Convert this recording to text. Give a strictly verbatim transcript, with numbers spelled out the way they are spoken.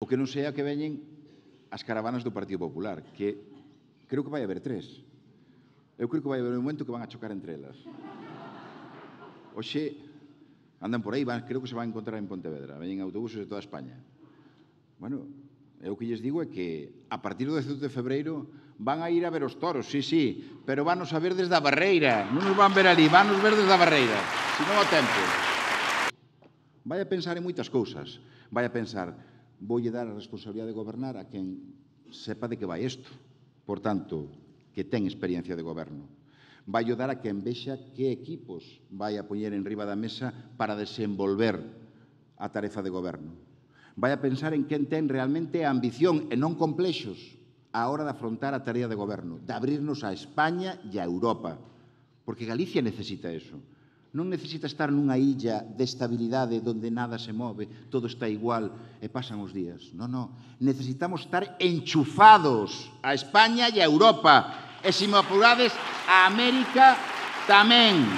O que non sea que veñen as caravanas do Partido Popular, que creo que vai haber tres. Eu creo que vai haber un momento que van a chocar entre elas. Oxe, andan por aí, van, creo que se van a encontrar en Pontevedra, veñen autobuses de toda España. Bueno, eu o que lles digo é que a partir do dezatoito de febreiro van a ir a ver os toros, sí, sí, pero van a ver desde a barreira, non nos van ver ali, van a ver desde a barreira, se non o tempo. Vai a pensar en moitas cousas, vai a pensar, voulle dar a responsabilidade de gobernar a quen sepa de que vai isto, por tanto, que ten experiencia de goberno. Vai dar a quen vexa que equipos vai a poñer en riba da mesa para desenvolver a tarefa de goberno. Vai a pensar en quen ten realmente a ambición e non complexos a hora de afrontar a tarea de goberno, de abrirnos a España e a Europa, porque Galicia necesita eso. Non necesita estar nunha illa de estabilidade onde nada se move, todo está igual e pasan os días. Non, non. Necesitamos estar enchufados a España e a Europa. E, se me apurades, a América tamén.